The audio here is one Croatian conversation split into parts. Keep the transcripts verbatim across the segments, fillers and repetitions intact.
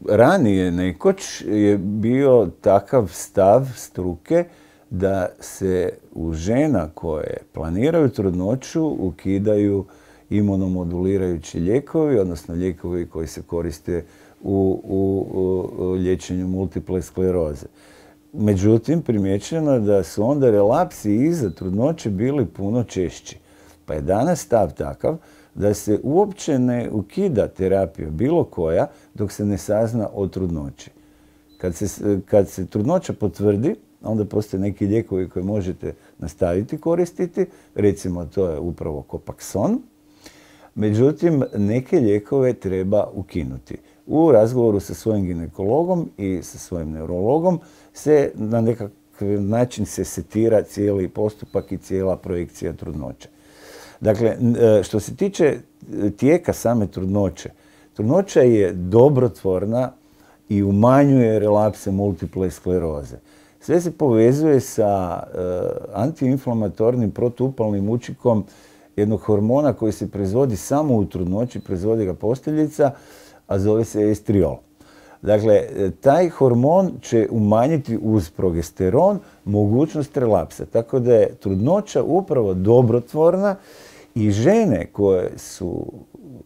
ranije nekoć je bio takav stav struke da se u žena koje planiraju trudnoću ukidaju imunomodulirajući lijekovi, odnosno lijekovi koji se koriste u, u, u liječenju multiple skleroze. Međutim, primjećeno je da su onda relapsi iza trudnoće bili puno češći. Pa je danas stav takav da se uopće ne ukida terapija bilo koja dok se ne sazna o trudnoći. Kad se, kad se trudnoća potvrdi, onda postoje neki lijekovi koje možete nastaviti koristiti, recimo to je upravo Copaxone. Međutim, neke lijekove treba ukinuti. U razgovoru sa svojim ginekologom i sa svojim neurologom se na nekakav način se setira cijeli postupak i cijela projekcija trudnoće. Dakle, što se tiče tijeka same trudnoće, trudnoća je dobrotvorna i umanjuje relapse multiple skleroze. Sve se povezuje sa antiinflamatornim protuupalnim učinkom jednog hormona koji se proizvodi samo u trudnoći, proizvodi ga posteljica, a zove se estriol. Dakle, taj hormon će umanjiti uz progesteron mogućnost relapsa. Tako da je trudnoća upravo dobrotvorna i žene koje su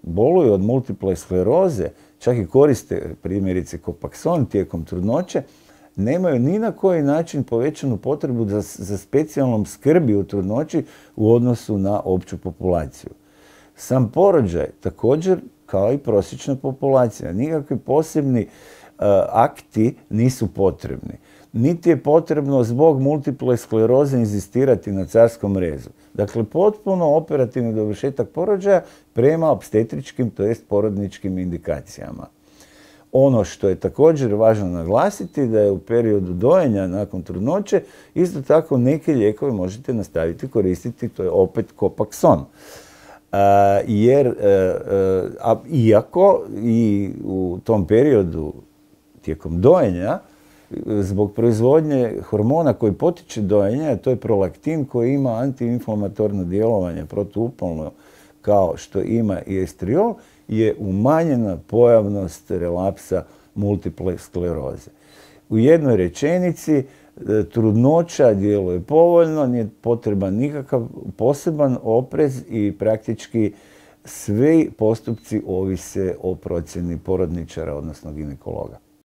boluju od multiple skleroze, čak i koriste primjerice Copaxone tijekom trudnoće, nemaju ni na koji način povećanu potrebu za, za specijalnom skrbi u trudnoći u odnosu na opću populaciju. Sam porođaj također kao i prosječna populacija. Nikakvi posebni uh, akti nisu potrebni. Niti je potrebno zbog multiple skleroze inzistirati na carskom rezu. Dakle, potpuno operativni dovršetak porođaja prema opstetričkim, to jest porodničkim indikacijama. Ono što je također važno naglasiti da je u periodu dojenja nakon trudnoće isto tako neke lijekove možete nastaviti koristiti, to je opet Copaxone. Uh, jer, uh, uh, a, iako i u tom periodu tijekom dojenja, zbog proizvodnje hormona koji potiče dojenje, a to je prolaktin koji ima antiinflamatorno djelovanje protuupalno kao što ima i estriol, je umanjena pojavnost relapsa multiple skleroze. U jednoj rečenici, trudnoća djeluje povoljno, nije potreban nikakav poseban oprez i praktički svi postupci ovise o procjeni porodničara, odnosno ginekologa.